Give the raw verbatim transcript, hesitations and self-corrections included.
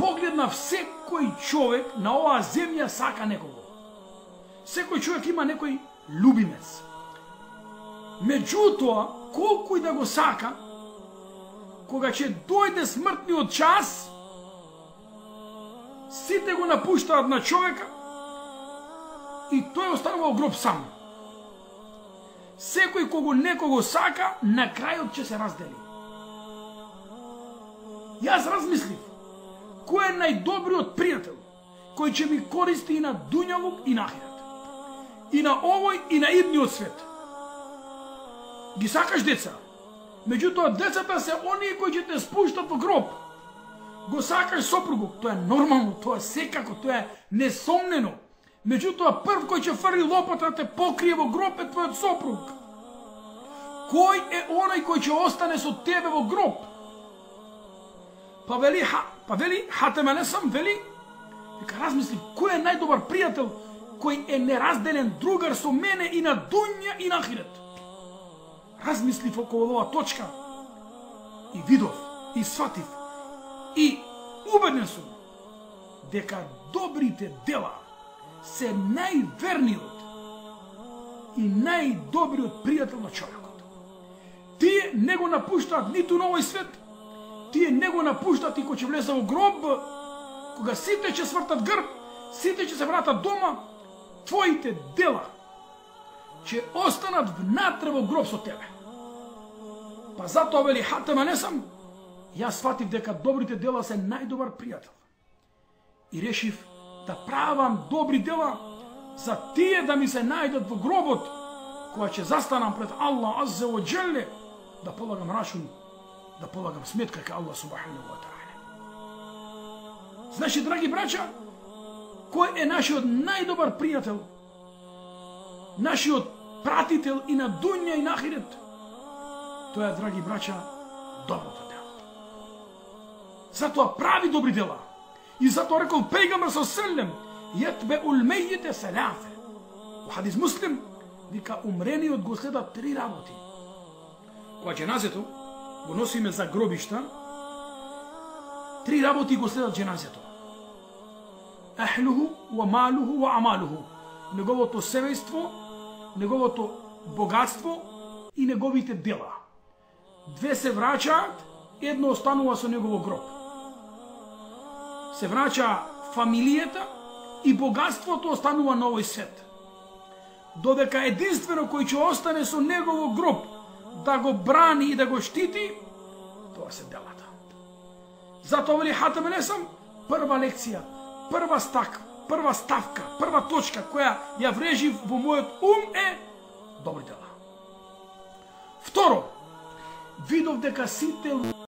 погледнав, секој човек на оваа земја сака некого. Секој човек има некој любимец. Меѓутоа, колку и да го сака, кога ќе дојде смртниот час, сите го напуштаат на човека и тој останува во гроб сам. Секој кого некого сака, на крајот ќе се раздели. Јас размислив, кој е најдобриот пријател, кој ќе ми користи и на дуњавук и на ахирет, и на овој и на идниот свет. Ги сакаш деца, меѓутоа децата се оние кои ќе те спуштат во гроб. Го сакаш сопругот, тоа е нормално, тоа е секако, тоа е несомнено. Меѓутоа прв кој ќе фрли лопата те покрие во гроб е твојот сопруг. Кој е оној кој ќе остане со тебе во гроб? Па вели, па вели, Хатем алейхиссалам вели, дека размислив, кој е најдобар пријател, кој е неразделен другар со мене и на дуња и на ахирет. Размислив околу оваа точка и видов, и сватив, и убеден сум дека добрите дела се најверниот и најдобриот пријател на човекот. Тие не го напуштаат ниту на овој свет, тие не го напуштаат и кога ќе влезе во гроб, кога сите ќе свртат грб, сите ќе се вратат дома, твоите дела ќе останат внатре во гроб со тебе. Па затоа вели Хатем алейхиссалам, јас сватив дека добрите дела се најдобар пријател. И решив да правам добри дела за тие да ми се најдат во гробот, кога ќе застанам пред Аллах азза ва џелле, да полагам рачун, да полагам сметка кај Аллах субханаху ва таала. Значи, драги браќа, кој е нашиот најдобар пријател, нашиот пратител и на дуња и на ахирет? Тоа е, драги браќа, доброто дело. Затоа прави добри дела. И затоа рекол пејгамбер со селем, јетбеул мејите селафе. Во хадис Муслим, вика, умрениот го следат три работи. Кога џеназето го носиме за гробишта, три работи го следат џеназето. Ахлуху, ва малуху, ва амалуху. Неговото семејство, неговото богатство и неговите дела. Две се враќаат, едно останува со негово гроб. Се враќа фамилијата и богатството останува на овој свет. Додека единствено кој ќе остане со негово гроб да го брани и да го штити, тоа се делата. Затоа вели Хатем алейхиссалам, прва лекција, прва стак, прва ставка, прва точка која ја врежив во мојот ум е добри дела. Второ, видов дека сите